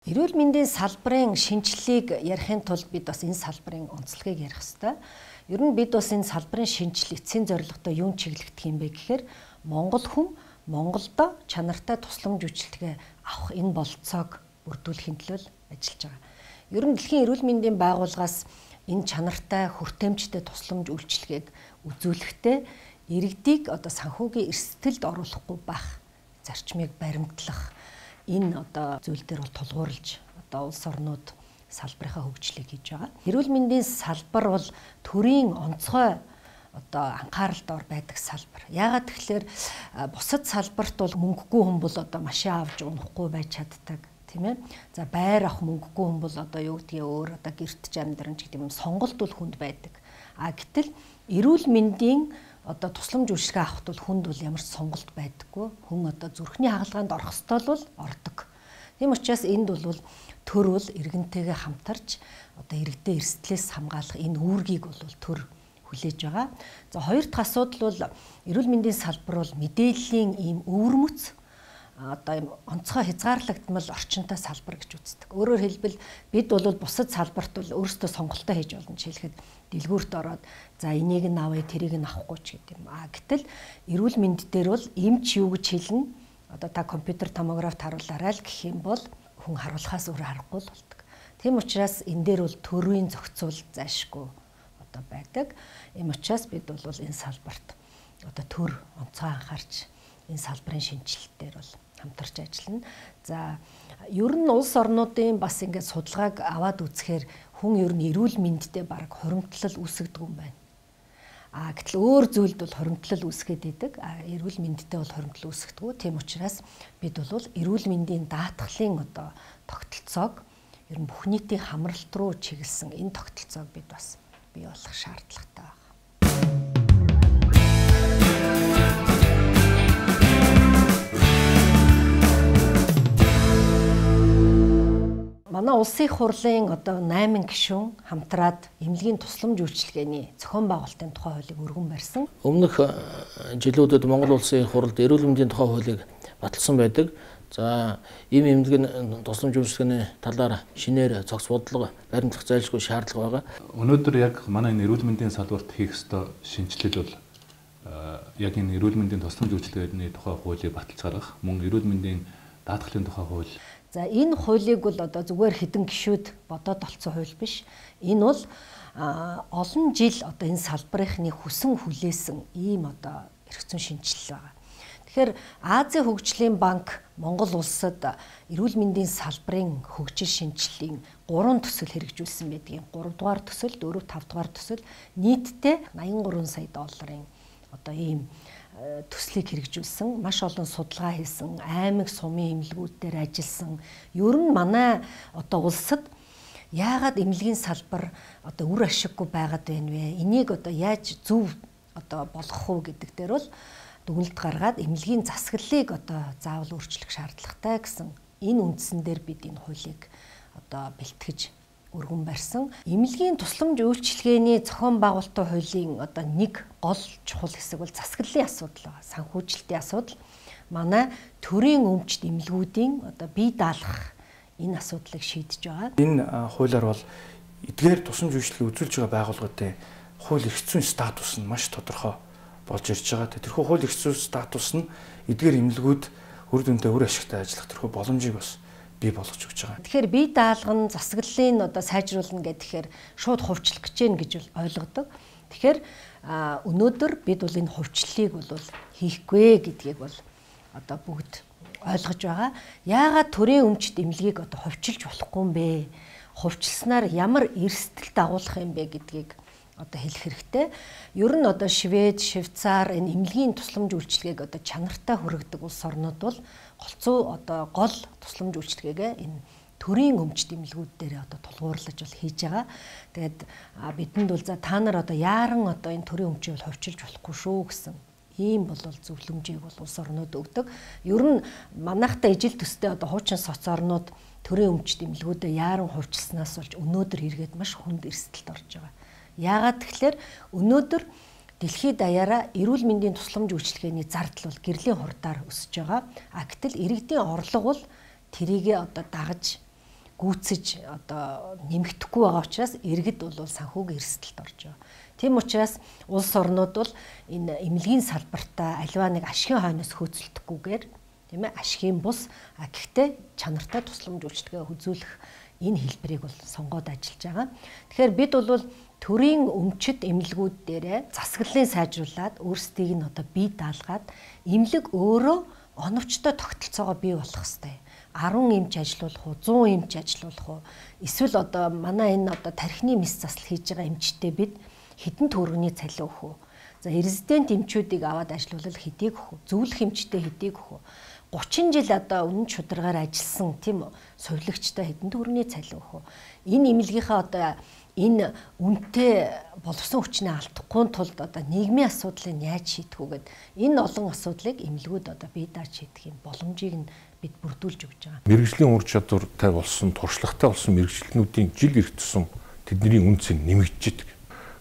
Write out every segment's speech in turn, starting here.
Эрүүл мэндийн салбарын шинжилгээг ярихын тулд бид бас энэ салбарын онцлогийг ярих ёстой. Ер нь бид бас энэ салбарын шинжил эцсийн зорилготой юун чиглэгдэх юм бэ гэхээр Монгол хүн Монголдо чанартай тусламж үйлчилгээ авах энэ болцоог бүрдүүлэхийн төлөө ажиллаж байгаа. Ер нь дэлхийн эрүүл мэндийн байгууллагаас энэ чанартай хүртээмжтэй тусламж үйлчилгээг үзүүлэхдээ иргэдийг санхүүгийн эрсдэлд оруулахгүй байх зарчмыг баримтлах энэ зүйл дээр бол тулгуурлаж улс орнууд салбарынхаа хөгжлийг хийж байгаа. Эрүүл мэндийн салбар бол төрийн онцгой анхааралд ор байдаг салбар. Яагаад тэгэхээр бусад салбарт бол мөнгөгүй хүн бол машин авч унахгүй байж чаддаг, тийм ээ. За байр авах мөнгөгүй хүн бол юу гэдгийг өөр гэртж амьдран ч гэдэг юм сонголт бол хүнд байдаг. Гэтэл эрүүл мэндийн тусламж үйлчилгээ авахд бол хүнд бол ямар ч сонголт байдаггүй. Хүн зүрхний хагалгаанд орох ёстой бол ордог. Тийм учраас энд бол төр бол иргэнтэйгээ хамтарч иргэдээ эрсдлээс хамгаалах энэ үүргийг бол төр хүлээж байгаа. За хоёр дахь асуудал бол эрүүл мэндийн салбар бол мэдээллийн ийм өвөрмөц онцгой хязгаарлагдмал орчинтой салбар гэж үздэг. Өөрөөр хэлбэл бид бол бусад салбарт бол өөрсдөө сонголтоо хийж болно ч хэлэхэд дэлгүүрт ороод за энийг нь авъя тэрийг нь авахгүй ч гэдэг юм. Гэтэл эрүүл мэнд дээр бол эмч юу гэж хэлнэ? Та компьютер томографт харуулаарай л гэх юм бол хүн харуулахаас өөр аргагүй л болдог. Тийм учраас энэ дээр бол төрийн зохицуул зайлшгүй байдаг. Ийм учраас бид бол энэ салбарт төр онцгой анхаарч энэ салбарын шинжилэлтээр бол хамтарч ажиллана. За ер нь улс орнуудын бас ингээд судалгааг аваад үзэхээр хүн ер нь эрүүл мэндэд баг хуримтлал үүсгэдэг юм байна. Гэтэл өөр зүйлд бол хуримтлал үүсгээд идэг. Эрүүл мэндэд бол хуримтлал үүсгэдэг. Тийм учраас бид бол эрүүл мэндийн даатгалын тогтолцоог ер нь бүх нийтийн хамралт руу чиглэсэн энэ тогтолцоог бид бас бий болох шаардлагатай байна. Манай улсын их хурлын 8 гишүүн хамтраад эмнэлгийн тусламж үйлчилгээний зохион байгуулалтын тухай хуулийг өргөн барьсан. Өмнөх жилүүдэд Монгол улсын их хурлд эрүүл мэндийн тухай хуулийг баталсан байдаг. За ийм эмнэлгийн тусламж үйлчилгээний талаар шинээр цогц бодлого баримтлах зайлшгүй шаардлага байгаа. Өнөөдөр яг манай энэ эрүүл мэндийн салбарт хийх ёстой шинжилэл бол яг энэ эрүүл мэндийн тусламж үйлчилгээний тухай хуулийг баталж гаргах, мөн эрүүл мэндийн даатгалын тухай хууль. За энэ хуулийг бол зүгээр хэдэн гишүүд бодоод олцсон хууль биш. Энэ бол олон жил энэ салбарынхны хүсэн хүлээсэн ийм эрх зүйн шинжилэл байгаа. Тэгэхээр Азийн хөгжлийн банк Монгол улсад эрүүл мэндийн салбарын хөгжил шинжиллийн 3 төсөл хэрэгжүүлсэн байдгийг. 3 дугаар төсөл, 4, 5 дугаар төсөл нийтдээ 83 сая долларын ийм төслийг хэрэгжүүлсэн, маш олон судалгаа хийсэн, аймаг сумын эмнэлгүүд дээр ажилласан. Ер нь манай улсад яагаад эмнэлгийн салбар үр ашиггүй байгаад байна вэ? Энийг яаж зөв болгох уу гэдэг дээр бол дүгнэлт гаргаад эмнэлгийн засаглалыг заавал өөрчлөх шаардлагатай гэсэн энэ үндсэн дээр бид энэ хуулийг бэлтгэж өргөн барьсан. Эмнэлгийн тусламж үйлчилгээний зохион байгуулалтын хуулийн нэг гол чухал хэсэг бол засаглалын асуудал байна. Санхүүжилтийн асуудал. Манай төрийн өмчт эмнэлгүүдийн бие даалгах энэ асуудлыг шийдэж байгаа. Энэ хуулиар бол эдгээр тусламж үйлчилгээ үзүүлж байгаа байгууллагуудын хууль эрх зүйн статус нь маш тодорхой болж ирж байгаа. Тэрхүү хууль эрх зүйн статус нь эдгээр эмнэлгүүд үр дүндээ үр ашигтай ажиллах тэрхүү боломжийг бас бий болгож өгч байгаа. Тэгэхээр бие даалган засаглалын сайжруулна гэхээр шууд хувьчлах гэж байна гэж ойлгодог. Тэгэхээр өнөөдөр бид бол энэ хувьчлалыг бол хийхгүй гэдгийг бол бүгд ойлгож байгаа. Яагаад төрийн өмчт эмнэлгийг хувьчилж болохгүй юм бэ? Хувьчилснаар ямар эрсдэл дагуулах юм бэ гэдгийг хэлэх хэрэгтэй. Ер нь Швед, Швейцар энэ эмнэлгийн тусламж үйлчилгээг чанартай хүргэдэг улс орнууд бол гол тусламж үйлчилгээгээ энэ төрийн өмчт эмнэлгүүд дээр тулгуурлаж хийж байгаа. Тэгээд бидэнд бол за та нар яаран энэ төрийн өмчийг хувьчилж болохгүй шүү гэсэн ийм бол зөвлөмжийг бол улс орнууд өгдөг. Ер нь манайхтай ижил төстэй хуучин соц орнууд төрийн өмчт эмнэлгүүдэд яаран хувьчилснаас болж өнөөдөр эргээд маш хүнд эрсдэлд орж байгаа. Яагаад тэгэхээр өнөөдөр дэлхийд даяараа эрүүл мэндийн тусламж үйлчилгээний зардал бол гэрлийн хурдаар өсөж байгаа. Гэтэл иргэдийн орлого бол тэрийгэ дагаж гүйцэж одоо нэмэгдэхгүй байгаа учраас иргэд бол санхүүгийн эрсдэлд орж байгаа. Тийм учраас улс орнууд бол энэ эмнэлгийн салбартаа аливаа нэг ашигын хойноос хөөцөлдөхгүйгээр тийм ээ ашигын бус гэхдээ чанартай тусламж үйлчилгээ үзүүлэх энэ хэлбэрийг бол сонгоод ажиллаж байгаа. Тэгэхээр бид бол төрийн өмчит эмнэлгүүд дээрээ засаглалын сайжруулад өөрсдийг нь одоо бие даалгаад эмнэлэг өөрөө оновчтой тогтолцоогоо бий болгох хэрэгтэй. 10 эмч ажиллуулах уу, 100 эмч ажиллуулах уу? Эсвэл одоо манай энэ одоо тархины мэс засал хийж байгаа эмчтэй бид хэдэн төгрөгийн цалин өгөх үү? За резидент эмчүүдийг аваад ажиллуулал хэдийг өгөх үү? Зөвлөх эмчтэй хэдийг өгөх үү? 30 жил одоо үнэн чударгаар ажилласан тийм сувилагчтай хэдэн төгрөгийн цалин өгөх үү? Энэ эмнэлгийнхаа одоо энэ үнэтэй боловсон хүчнээ алдахгүй тулд одоо нийгмийн асуудлыг яаж шийдэх үү гэд энэ олон асуудлыг эмнэлгүүд одоо бие дааж шийдэх юм боломжийг нь бид бүрдүүлж өгч байгаа. Мэргэжлийн ур чадвартай болсон, туршлагатай болсон мэргэжлэнүүдийн жил ирэх тусам тэдний үнц нь нэмэгдэж идэг.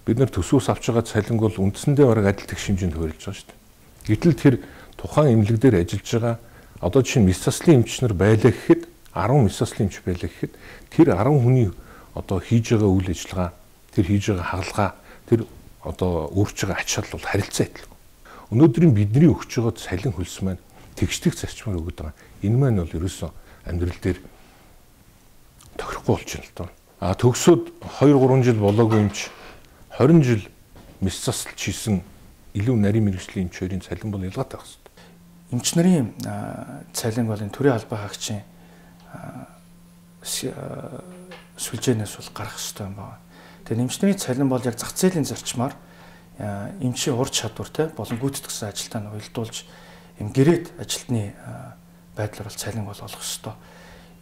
Бид нар төсвөөс авч байгаа цалин бол үндсэндээ бараг адил тэгш хэмжээнд хуурилж байгаа шүү дээ. Гэтэл тэр тухайн эмнэлэг дээр ажиллаж байгаа одоо жишээ нь мэс заслын эмч нар байлаа гэхэд 10 мэс заслын эмч байлаа гэхэд тэр 10 хүний одоо хийж байгаа үйл ажиллагаа, тэр хийж байгаа хагалгаа, тэр одоо өөрч байгаа ач шал бол харилцаа адилхан. Өнөөдрийн бидний өгч байгаа цалин хөлс маань тэгшдэг зарчмаар өгöd байгаа. Энэ маань бол ерөөсөө амьдрал дээр тохирохгүй болж байна л доо. Төгсөөд 2-3 жил болоогүй эмч 20 жил мэс засалж хийсэн илүү нарийн мэргэжлийн эмчийн цалин бол ялгаатай байх хэрэгтэй. Эмч нарын цалин бол энэ төрийн албан хаагчийн сүлжээнээс бол гарах хэрэгтэй юм байна. Тэгээ эмчнэрийн цалин бол яг зах зээлийн зарчмаар эмчийн ур чадвартай болон гүйцэтгэсэн ажилтаа нь уялдуулж юм гэрээд ажилтны байдлаар бол цалин бол олох ёстой.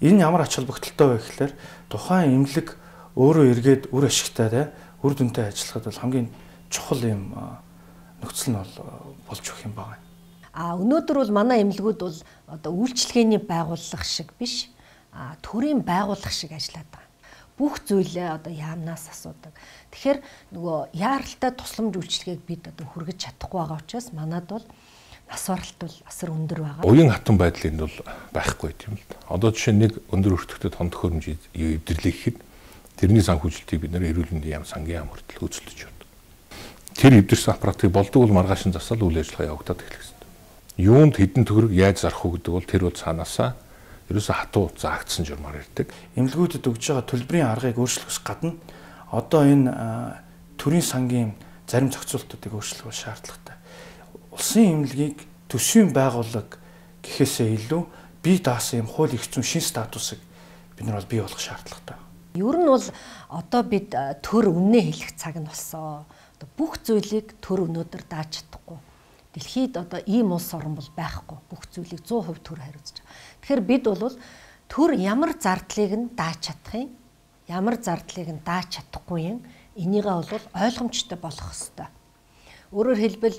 Энэ ямар ач холбогдолтой вэ гэхээр тухайн эмнэлэг өөрөө эргээд үр ашигтай үр дүнтэй ажиллахад бол хамгийн чухал юм нөхцөл нь болж өгөх юм байна. Өнөөдөр бол манай эмнэлгүүд бол одоо үйлчлэгээний байгууллага шиг биш, төрийн байгууллага шиг ажиллаад байгаа. Бүх зүйлээ одоо яамнаас асуудаг. Тэгэхээр нөгөө яаралтай тусламж үйлчилгээг бид одоо хүргэж чадахгүй байгаа учраас манад бол нас баралт бол асар өндөр байгаа. Уян хатан байдлын бол байхгүй тийм л. Одоо жишээ нэг өндөр өртөгтэй тон төхөөрөмж эвдэрлэх гэхэд тэрний санхүүжилтийг бид нэр эрүүл мэндийн яам сангийн яам хүртэл хөөцөлдөж байна. Тэр эвдэрсэн аппаратыг болдог бол маргааш нь засаал үйл ажиллагаа явагдаад эхлэх хэрэгтэй. Юунд хэдэн төгрөг яаж зарах уу гэдэг бол тэр бол цаанаасаа ерөөсө хатуу заагдсан журмаар ирдэг. Эмнэлгүүдэд өгж байгаа төлбөрийн аргыг өөрчлөхөөс гадна одоо энэ төрийн сангийн зарим зохицуултуудыг өөрчлөх шаардлагатай. Улсын эмнэлгийг төсвийн байгууллага гэхээсээ илүү бие даасан юм хууль эрх зүйн шин статусыг бид нар бол бий болгох шаардлагатай. Ер нь бол одоо бид төр үнэ хэлэх цаг нь болсон. Одоо бүх зүйлийг төр өнөөдөр дааж чадахгүй. Дэлхийд одоо ийм улс орн бол байхгүй. Бүх зүйлийг 100% төр хариуцж байгаа. Тэгэхээр бид бол төр ямар зардлыг нь дааж чадах юм, ямар зардлыг нь дааж чадахгүй юм, энийгээ бол ойлгомжтой болох ёстой. Өөрөөр хэлбэл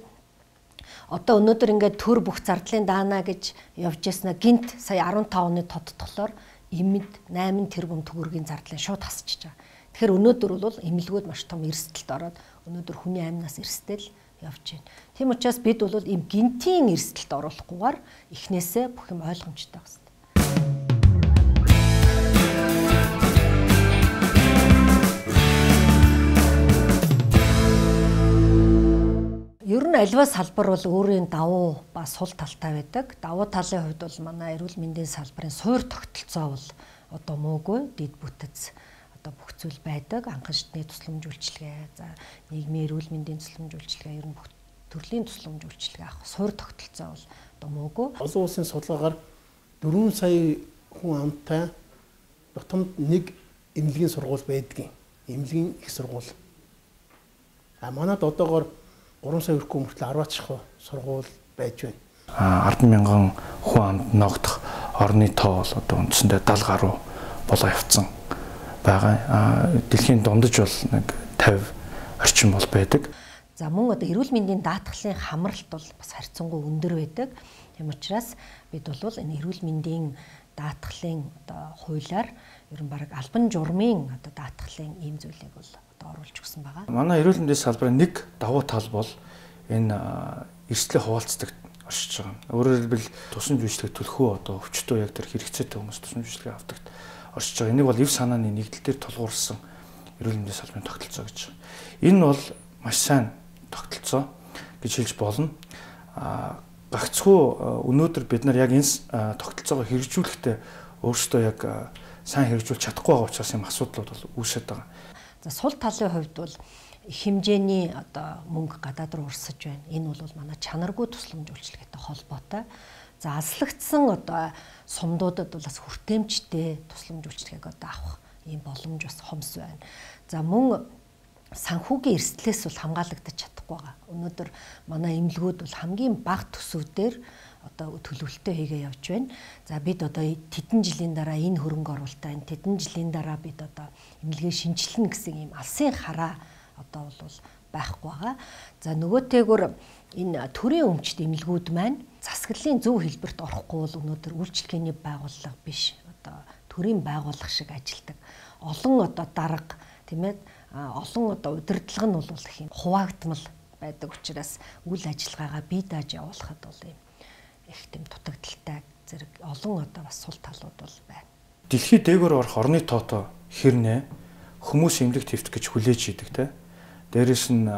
одоо өнөөдөр ингээд төр бүх зардлын даана гэж явж яснаа гинт сая 15 оны тодтголоор эмэд 8 тэрбум төгрөгийн зардлын шууд хасчихж байгаа. Тэгэхээр өнөөдөр бол эмнэлгүүд маш том эрсдэлд ороод өнөөдөр хүний амнаас эрсдэл явж байна. Тийм учраас бид бол ийм гинтийн эрсдэлд оруулахгүйгээр эхнээсээ бүх юм ойлгомжтой байх хэрэгтэй. Ер нь альва салбар бол өөрийн давуу ба сул талтай байдаг. Давуу талын хувьд бол манай эрүүл мэндийн салбарын суур тогтолцоо бол одоо муугүй, дэд бүтэц одоо бүх зүйл байдаг. Анхан шатны тусламж үйлчилгээ, за нийгмийн эрүүл мэндийн тусламж үйлчилгээ, ер нь бүх төрлийн тусламж үйлчилгээ авах суур тогтолцоо бол одоо муугүй. Олон улсын судалгаагаар 4 сая хүн амтай нутамд нэг эмнэлгийн сургууль байдгийн. Эмнэлгийн их сургууль. Манайд одоогоор 3 сая хүрэхгүй мөртлөө 10-аач сургууль байж байна. 10,000 хүн амд ногдох орны тоо бол одоо үндсэндээ 70 гаруй болоо явцсан байгаа. Дэлхийн дундаж бол нэг 50 орчим бол байдаг. За мөн одоо эрүүл мэндийн даатгалын хамралт бол бас харьцангуй өндөр байдаг. Тийм учраас бид бол энэ эрүүл мэндийн даатгалын одоо хуулиар ер нь баг албан журмын одоо даатгалын ийм зүйлийг бол оруулж өгсөн байгаа. Манай эрүүл мэндийн салбарын нэг давуу тал бол энэ эрсдлээ хуваалцдаг оршиж байгаа. Өөрөөр хэлбэл тусламж үйлчилгээ төлөхөө одоо өвчтөө яг тэр хэрэгцээтэй хүмүүс тусламж үйлчилгээ авдагт оршиж байгаа. Энийг бол эв санааны нэгдэл дээр тулгуурсан эрүүл мэндийн салбарын тогтолцоо гэж байна. Энэ бол маш сайн тогтолцоо гэж хэлж болно. Гагцхүү өнөөдөр бид нар яг энэ тогтолцоогоо хэрэгжүүлэхдээ өөрсдөө яг сайн хэрэгжүүлж чадахгүй байгаа учраас юм асуудлууд бол үүсэж байгаа. За сул талын хувьд бол хэмжээний одоо мөнгө гадаад руу урсаж байна. Энэ бол манай чанаргүй тусламж үйлчилгээтэй холбоотой. За алслагдсан одоо сумдуудад бол бас хүртээмжтэй тусламж үйлчилгээг одоо авах ийм боломж бас хомс байна. За мөн санхүүгийн эрсдлээс бол хамгаалагдаж чадахгүй байгаа. Өнөөдөр манай эмнэлгүүд бол хамгийн бага төсөвдөр одоо төлөвлөлтөө хийгээ явж байна. За бид одоо тэдэн жилийн дараа энэ хөрөнгө оруулалтаа энэ тэдэн жилийн дараа бид одоо эмнэлгээ шинжилнэ гэсэн ийм алсын хараа одоо бол байхгүй байгаа. За нөгөөтэйгүр энэ төрийн өмчт эмнэлгүүд маань засаглалын зөв хэлбэрт орохгүй бол өнөөдөр үйлчилгээний байгууллага биш. Одоо төрийн байгууллага шиг ажилдаг. Олон одоо дарга тийм ээ олон одоо удирдлага нь бол их юм хуваагдмал байдаг учраас үйл ажиллагаагаа бие дааж явуулахад бол юм их тийм дутагдaltaй зэрэг олон одоо бас сул талууд бол байна. Дэлхийд дээгүүр орох орны тоотоо хэрнээ хүмүүс эмнэлэг твт гэж хүлээж идэг те. Дээрээс нь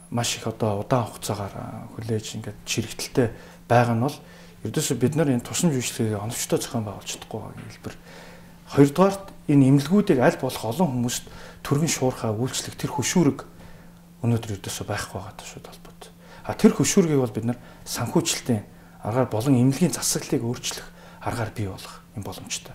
маш их одоо удаан хугацаагаар хүлээж ингээд чирэгдэлтэй байгаа нь бол ердөөсөө бид нар энэ тусламж үйлчилгээгээ оновчтой зохион байгуулж чадахгүй байгаа хэлбэр. Хоёрдугаарт энэ эмнэлгүүдийг аль болох олон хүмүүст түргэн шуурхаа үйлчлэх тэр хөшүүрэг өнөөдөр ердөөсөө байхгүй байгаа шууд холбоотой. Тэр хөшүүргийг бол бид нар санхүүжилтийн аргаар болон эмнэлгийн засаглалыг өөрчлөх аргаар бий болгох юм боломжтой.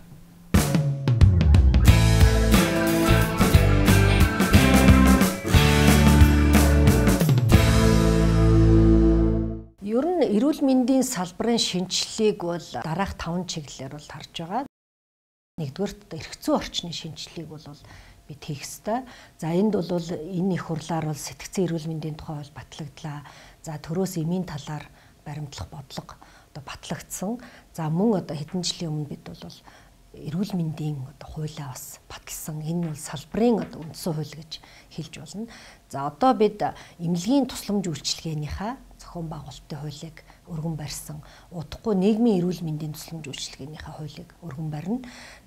Ер нь эрүүл мэндийн салбарын шинжилгээг бол дараах 5 чиглэлээр бол харж байгаа. Нэгдүгээрт эрх зүйн орчны шинжилгээг бол бид хийх ёстой. За энд бол энэ их хурлаар бол сэтгцэн эрүүл мэндийн тухай бол батлагдлаа. За төрөөс эмийн талаар баримтлах бодлого одоо батлагдсан. За мөн одоо хэдэн жилийн өмнө бид бол эрүүл мэндийн одоо хуулиа бас баталсан. Энэ бол салбарын одоо үндсэн хууль гэж хэлж болно. За одоо бид эмнэлгийн тусламж үйлчилгээнийхээ зохион байгуулалтын хуулийг өргөн барьсан. Удахгүй нийгмийн эрүүл мэндийн тусламж үйлчилгээнийхээ хуулийг өргөн барина.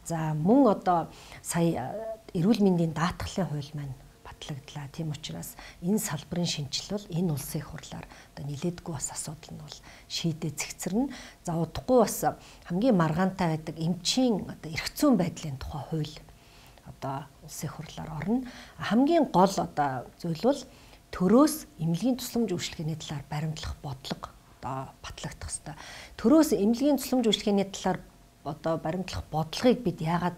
За мөн одоо сая эрүүл мэндийн даатгалын хууль маань батлагдлаа. Тийм учраас энэ салбарын шинжил бол энэ улсын их хурлаар одоо нилээдгүй бас асуудал нь бол шийдээ цэгцэрнэ. За удахгүй бас хамгийн маргаантай байдаг эмчийн одоо эрх зүйн байдлын тухай хууль одоо улсын их хурлаар орно. Хамгийн гол одоо зүйл бол төрөөс эмнэлгийн тусламж үйлчилгээний талаар баримтлах бодлого одоо батлагдах ёстой. Төрөөс эмнэлгийн тусламж үйлчилгээний талаар одоо баримтлах бодлогыг бид яагаад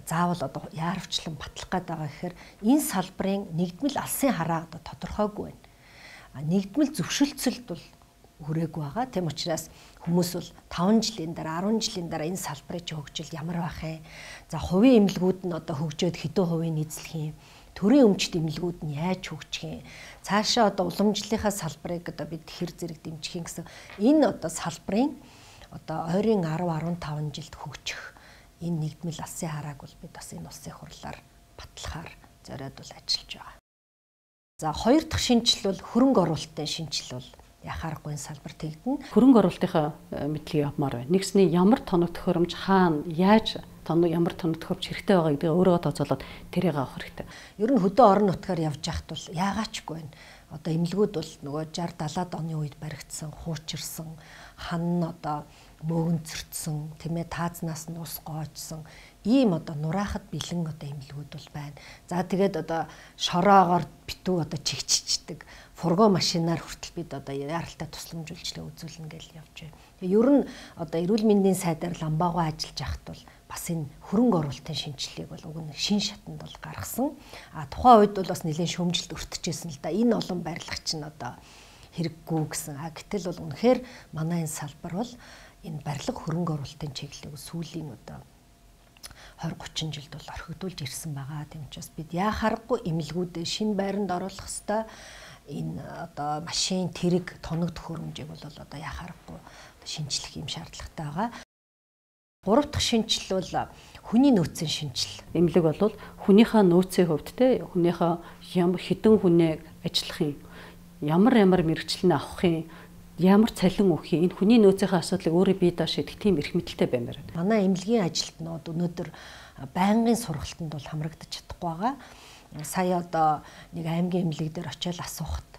заавал одоо яарвчлан батлах гээд байгаа гэхээр энэ салбарын нэгдмэл алсын хараа одоо тодорхойгүй байна. Нэгдмэл зөвшөлтсөлд бол хүрээгүй байгаа. Тийм учраас хүмүүс бол 5 жилийн дараа 10 жилийн дараа энэ салбарын хөгжил ямар байх юм? За хувийн эмнэлгүүд нь одоо хөгжөөд хэдэн хувийн эзлэх юм? Төрийн өмчт эмнэлгүүд нь яаж хөгжих юм? Цаашаа одоо уламжлалынхаа салбарыг одоо бид хэр зэрэг дэмжих юм гэсэн энэ одоо салбарын одоо ойрын 10-15 жилд хөгжих энэ нэгдмэл алсын харааг бол бид бас энэ улсын хурлаар батлахаар зориод бол ажиллаж байгаа. За хоёр дахь шинжил бол хөрөнгө оруулалтын шинжил бол яхаарахгүй салбар тэгдэнэ. Хөрөнгө оруулалтынхаа мэдлэгийг авмаар байна. Нэгсний ямар тоног төхөөрөмж хаана яаж ямар тоног төхөөрөмж хэрэгтэй байгаа гэдгийг өөрөө тооцоолоод тэрийг авах хэрэгтэй. Ер нь хөдөө орон нутгаар явж яхад бол яагаачгүй байна. Одоо эмнэлгүүд бол нөгөө 60-70-аад оны үед баригдсан, хуучирсан, хан одоо мөөгөнцөртсөн, тийм ээ таазнаас нь ус гоожсон ийм одоо нураахад бэлэн одоо эмнэлгүүд бол байна. За тэгээд одоо шороогоор битүү одоо чигччихдэг фургон машинаар хүртэл бид одоо яаралтай тусламж үйлчилгээ үзүүлнэ гэж явж байна. Тэгээ ер нь одоо эрүүл мэндийн сайдаар ламбаагаа ажиллаж байхад бол бас энэ хөрөнгө оруулалтын шинжилгээг бол уг нь шин шатанд бол гаргасан. Тухайн үед бол бас нэлээд шөмжилт өртөжсэн л да. Энэ олон барилгач нь одоо хэрэггүй гэсэн. Гэтэл бол үнэхээр манай энэ салбар бол энэ барилга хөрөнгө оруулалтын чиглэлийг сүүлийн одоо 20-30 жилд бол орхигдуулж ирсэн байгаа. Тийм учраас бид яахааргүй эмнэлгүүдэд шинэ байранд оруулах хэвээр энэ одоо машин тэрэг тоног төхөөрөмжийг бол одоо яхаарахгүй шинжлэх юм шаардлагатай байгаа. Гурав дахь шинжил бол хүний нөөцийн шинжил. Эмнэлэг бол хүнийхээ нөөцийн хувьд те хүнийхээ ямар хідэн хүнээ ажиллахын ямар мэрэгчлэн авахын ямар цалин өгөх юм? Энэ хүний нөөцийн асуудлыг өөрөө бие дааш шийдэх тийм эрх мэдэлтэй баймаар байна. Манай эмнэлгийн ажилтнууд өнөөдөр байнгын сургалтанд бол хамрагдаж чадахгүй байгаа. Сая одоо нэг аймгийн эмнэлэг дээр очиод асуухад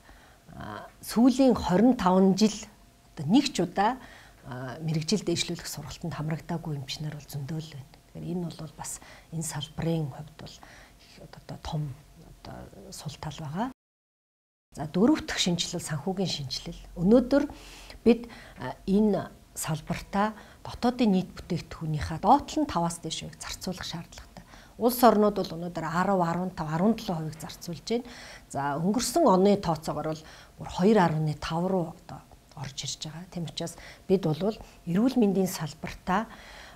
сүүлийн 25 жил одоо нэг ч удаа мэрэгжил дэвшлүүлэх сургалтанд хамрагдаагүй эмчнэр бол зөндөл байна. Тэгэхээр энэ бол бас энэ салбарын хувьд бол одоо том одоо сул тал байгаа. За дөрөв дэх шинжилэл санхүүгийн шинжилэл. Өнөөдөр бид энэ салбартаа дотоодын нийт бүтээгдэхүүнийхээ доотлол нь 5-аас дээш хувийг зарцуулах шаардлагатай. Улс орнууд бол өнөөдөр 10, 15, 17% зарцуулж байна. За өнгөрсөн оны тооцоогоор бол бүр 2.5 руу одоо орж ирж байгаа. Тийм учраас бид бол эрүүл мэндийн салбартаа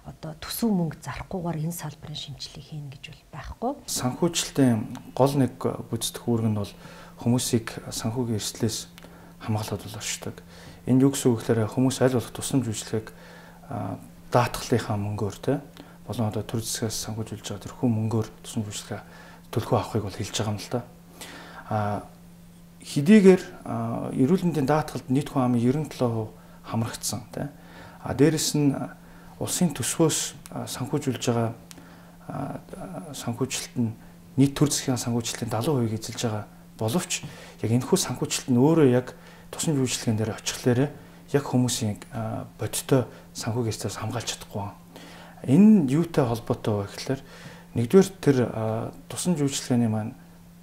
одоо төсөв мөнгө зарахгүйгээр энэ салбарын шинжилгээ хийнэ гэж бол байхгүй. Санхүүжилтийн гол нэг гүйцэтгэх үүрэг нь бол хүмүүсийг санхүүгийн эрсдлээс хамгаалаад бол оршдог. Энэ юу гэсэн үг гэхээр хүмүүс аль болох тусламж үйлчлэгийг даатгалынхаа мөнгөөр болон одоо төр засгаас санхүүжүүлж байгаа тэрхүү мөнгөөр тусламж үйлчлэгээ төлхөө авахыг бол хэлж байгаа юм л да. Хэдийгээр эрүүл мэндийн даатгалд нийт хүн амын 97% хамрагдсан дээрэс нь улсын төсвөөс санхүүжүүлж байгаа санхүүжилт нь нийт төр засгийн санхүүжилтийн 70% эзэлж байгаа боловч яг энэхүү санхүүжилт нь өөрөө яг тусламж үйлчлэгийн дээр очихлаарэ яг хүмүүсийн бодиттой санхүүгийн эрсдлээс хамгаалж чадахгүй. Энэ юутай холбоотой вэ гэхээр нэгдүгээр тэр тусламж үйлчлэгээний маань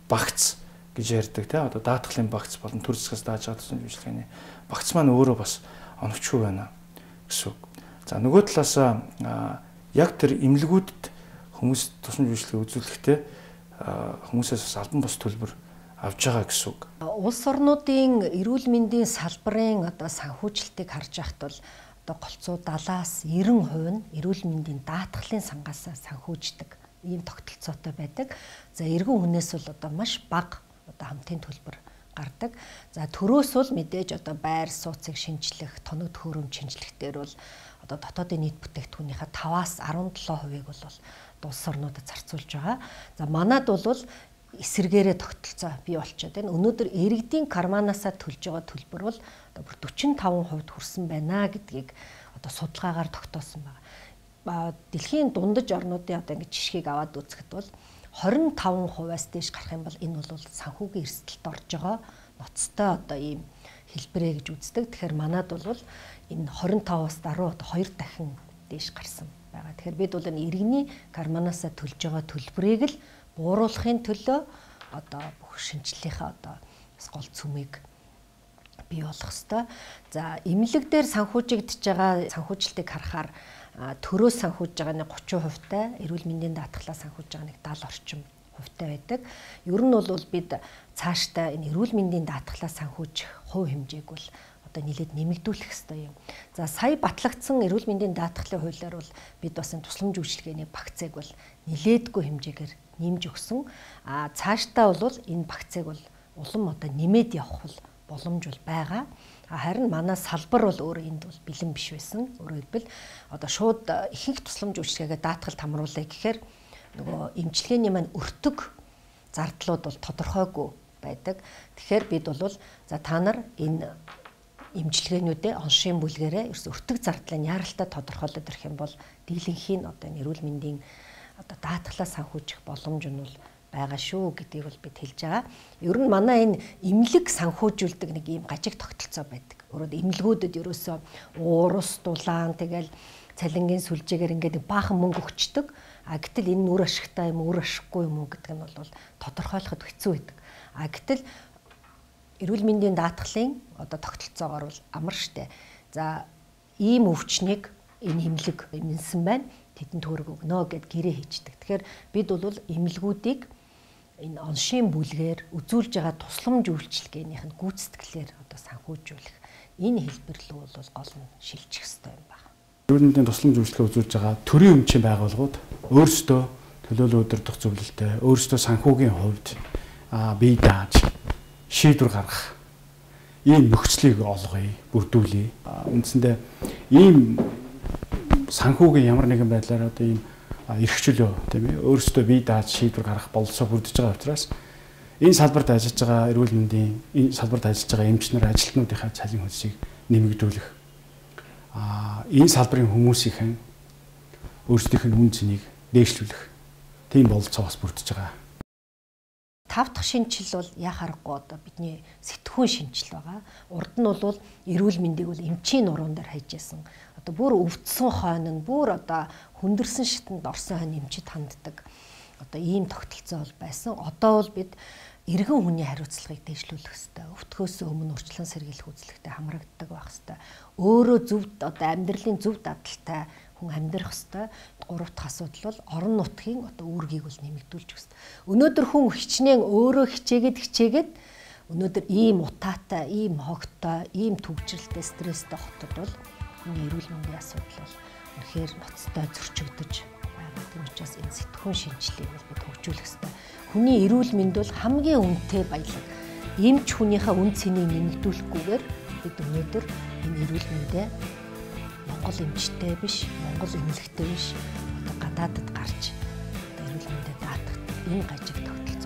багц гэж ярьдаг одоо даатгалын багц болон төр засгаас дааж байгаа тусламж үйлчлэгээний багц маань өөрөө бас оновчгүй байна гэсэн үг. За нөгөө талаас яг тэр эмнэлгүүдэд хүмүүс тусламж үйлчлэгээ үзүүлэхдээ хүмүүсээс бас албан бус төлбөр авж байгаа гэсэн үг. Улс орнуудын эрүүл мэндийн салбарын одоо санхүүжилтийг харж байхад бол одоо голцоо 70-аас 90% нь эрүүл мэндийн даатгалын сангаас санхүүждэг ийм тогтолцоотой байдаг. За эргэн хүнээс бол одоо маш бага одоо хамтын төлбөр гардаг. За төрөөс бол мэдээж одоо байр сууцыг шинжлэх, тоног төхөөрөмж шинжлэхтэр бол одоо дотоодын нийт бүтээгдэхүүнийхээ 5-аас 17%-ийг бол улс орнуудад зарцуулж байгаа. За манад бол эсэргээрээ тогтолцоо бий болчиход байна. Өнөөдөр иргэдийн карманаасаа төлж байгаа төлбөр бол одоо бүр 45% хүрсэн байна гэдгийг одоо судалгаагаар тогтоосон байна. Дэлхийн дундаж орнуудын одоо ингэ жишгийг аваад үзэхэд бол 25%-аас дээш гарах юм бол энэ бол санхүүгийн эрсдэлд орж байгаа ноцтой одоо ийм хэлбэрээ гэж үздэг. Тэгэхээр манад бол энэ 25-аас даруй одоо 2 дахин дээш гарсан байгаа. Тэгэхээр бид бол энэ иргэний карманаасаа төлж байгаа төлбөрийг л бууруулахын төлөө одоо бүх шинжилгээнийхээ одоо гол цөмийг бий болгох ёстой. За эмнэлэг дээр санхүүжигдэж байгаа санхүүжилтийг харахаар төрөө санхүүж байгаа нэг 30%-тай, эрүүл мэндийн даатгалаа санхүүж байгаа нэг 70 орчим хувьтай байдаг. Ер нь бол бид цаашдаа энэ эрүүл мэндийн даатгалаа санхүүжих хувь хэмжээг бол одоо нэлээд нэмэгдүүлэх ёстой юм. За сая батлагдсан эрүүл мэндийн даатгалын хуулиар бол бид бас энэ тусламж үйлчилгээний багцыг бол нэлээдгүй хэмжээгээр нэмж өгсөн. Цаашдаа бол энэ багцыг бол улам одоо нэмээд явах боломж бол байгаа. Харин манай салбар бол өөрөө энд бол бэлэн биш байсан. Өөрөөр хэлбэл одоо шууд ихэнх тусламж үйлчилгээгээ даатгалд хамруулъя гэхээр нөгөө эмчилгээний маань өртөг зардлууд бол тодорхойгүй байдаг. Тэгэхээр бид бол за та нар энэ эмчилгээнүүдээ оншийн бүлгээрээ ерөөс өртөг зардлыг яаралтай тодорхойлоод ирэх юм бол дийлэнхийн одоо энэ эрүүл мэндийн одоо даатгалаа санхүүжих боломж нь бол байгаа шүү гэдгийг бол бид хэлж байгаа. Ер нь манай энэ эмнэлэг санхүүжүүлдэг нэг ийм гажиг тогтолцоо байдаг. Өөрөөр эмнэлгүүдэд ерөөсөө уурус, дулаан тэгэл цалингийн сүлжээгээр ингээд баахан мөнгө өгчдөг. Гэтэл энэ үр ашигтай юм уу, үр ашиггүй юм уу гэдэг нь бол тодорхойлоход хэцүү байдаг. Гэтэл эрүүл мэндийн даатгалын одоо тогтолцоогоор бол амар штэ. За ийм өвчнийг энэ эмнэлэг эмнэлсэн байна. Тэдэнд төгрөг өгнө гэд гэрээ хийждэг. Тэгэхээр бид бол эмнэлгүүдийг энэ оншийн бүлгээр үзүүлж байгаа тусламж үйлчилгээнийх нь гүйцэтгэлээр одоо санхүүжүүлэх энэ хэлбэр рүү бол гол нь шилжих ёстой юм байна. Эрүүл мэндийн тусламж үйлчилгээ үзүүлж байгаа төрийн өмчийн байгууллагууд өөрсдөө төлөөлөл удирдах зөвлөлтөй, өөрсдөө санхүүгийн хувьд бие дааж шийдвэр гаргах ийм нөхцөлийг олгоё, бүрдүүлье. Үндсэндээ ийм санхүүгийн ямар нэгэн байдлаар одоо ийм эрх чөлөө тийм ээ өөрсдөө бие дааж шийдвэр гаргах бололцоо бүрдэж байгаа учраас энэ салбарт ажиллаж байгаа эрүүл мэндийн энэ салбарт ажиллаж байгаа эмчнэр ажилтнуудынхаа цалин хөлсийг нэмэгдүүлэх. Энэ салбарын хүмүүсийн өөрсдийнх нь үн цэнийг дээшлүүлэх тийм бололцоо бас бүрдэж байгаа. 5 дахь шинжил бол яа харахгүй одоо бидний сэтгхүүн шинжил байгаа. Урд нь бол эрүүл мэндийг бол эмчийн нуруунд дээр хайж яасан. Одоо бүр өвдсөн хойно нь бүр одоо хүндэрсэн шатанд орсон хойно эмчид ханддаг. Одоо ийм тогтолцоо бол байсан. Одоо бол бид иргэн хүний хариуцлагыг дээшлүүлэх хэрэгтэй. Өвтгөөс өмнө урьдчилан сэргийлэх үзлэгтэй хамрагддаг байх хэрэгтэй. Өөрөө зөв одоо амьдралын зөв дадалтай хүн амьдрах хэрэгтэй. 3 дахь асуудал бол орон нутгийн одоо үүргийг бол нэмэгдүүлж өгсөн. Өнөөдөр хүн хичнээн өөрөө хичээгээд өнөөдөр ийм утаатай, ийм хогтой, ийм төвчрэлтэй, стресстэй хотод бол хүний эрүүл мэндийн асуудал бол үнэхээр ноцтой зөрчигдөж байгаа. Тийм учраас энэ сэтгхүүн шинжилгээг бол бид хөгжүүлэх хэрэгтэй. Хүний эрүүл мэнд бол хамгийн үнэтэй баялаг. Эмч хүнийхээ үн цэнийг нэмэгдүүлэхгүйгээр бид өнөөдөр энэ эрүүл мэндээ Монгол эмчтэй биш, Монгол эмнэлэгтэй биш, одоо гадаадд гарч эрүүл мэндэд даатгах энэ гажиг тогтолцоо